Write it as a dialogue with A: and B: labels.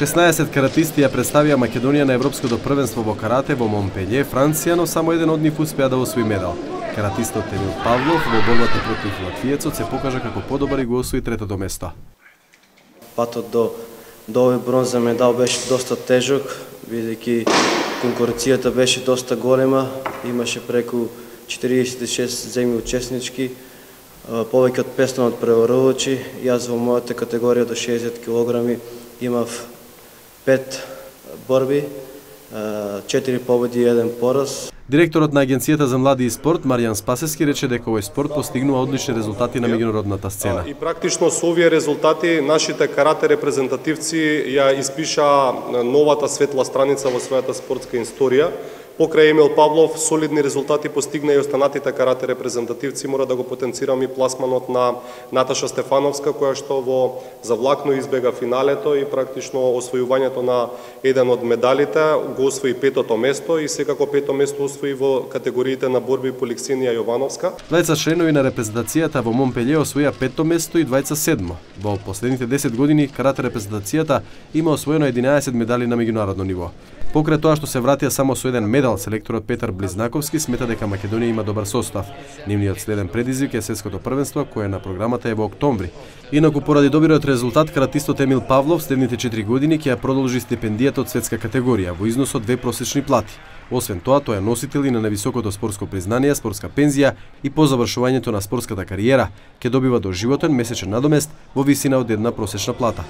A: 16 каратисти ја представија Македонија на Европското првенство во карате во Монпелје, Франција, но само еден од нив успеа да освои медал. Каратистот Емил Павлов во борбата против латвиецот се покажа како подобар и го освои третото место.
B: Патот до овој бронза медал беше доста тежок, бидејќи конкуренцијата беше доста голема, имаше преку 46 земји учеснички, повеќе од 500 надпреварувачи. Јас во мојата категорија до 60 кг имав 5 борби, 4 победи и 1 пораз.
A: Директорот на Агенцијата за млади и спорт Маријан Спасески рече дека овој спорт постигнува одлични резултати на меѓународната сцена.
C: И практично со овие резултати нашите карате репрезентативци ја испиша новата светла страница во својата спортска историја. Покрај Емил Павлов, солидни резултати постигна и останатите карате репрезентативци. Мора да го потенцирам и пласманот на Наташа Стефановска, која што во завлакно избега финалето и практично освојувањето на еден од медалите, го освои 5-то место и секако 5-то место освои во категориите на борби по Лексинија Јовановска.
A: Двајца членови на репрезентацијата во Монпелје освоија 5-то место и двајца 7-мо. Во последните 10 години карате репрезентацијата има освоено 11 медали на меѓународно ниво. Покрај тоа што се вратија само со еден медал, селекторот Петар Близнаковски смета дека Македонија има добар состав. Нивниот следен предизвик е светското првенство, кое на програмата е во октомври. Инаку поради добриот резултат, каратистот Емил Павлов следните 4 години ќе ја продолжи стипендијата од светска категорија во износ од 2 просечни плати. Освен тоа, тој е носител и на највисокото спортско признание, спортска пензија и по завршувањето на спортската кариера ќе добива доживотен месечен надомест во висина од 1 просечна плата.